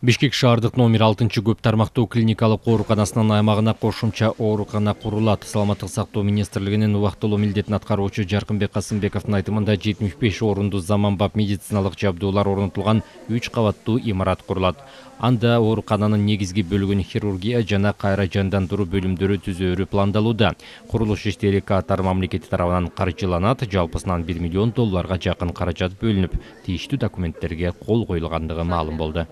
Бишкек шаардык номер 6 көп тармактуу клиникалык ооруканасынын аймагына кошумча оорукана курулат. Саламаттык сактоо министрлигинин убактылуу милдетин аткаруучу Жаркынбек Касымбековдун айтымында 75 орунду заманбап медициналык жабдуулар орнотулган 3 кабаттуу имарат курулат. Анда оорукананын негизги бөлүгүн хирургия жана кайра жандандыруу бөлүмдөрү түзөөрү пландалууда. Курулуш иштери Катар мамлекети тарабынан каржыланат. Жалпысынан $1 миллион жакын каражат бөлүнүп, тийиштүү документтерге кол коюлгандыгы маалым болду.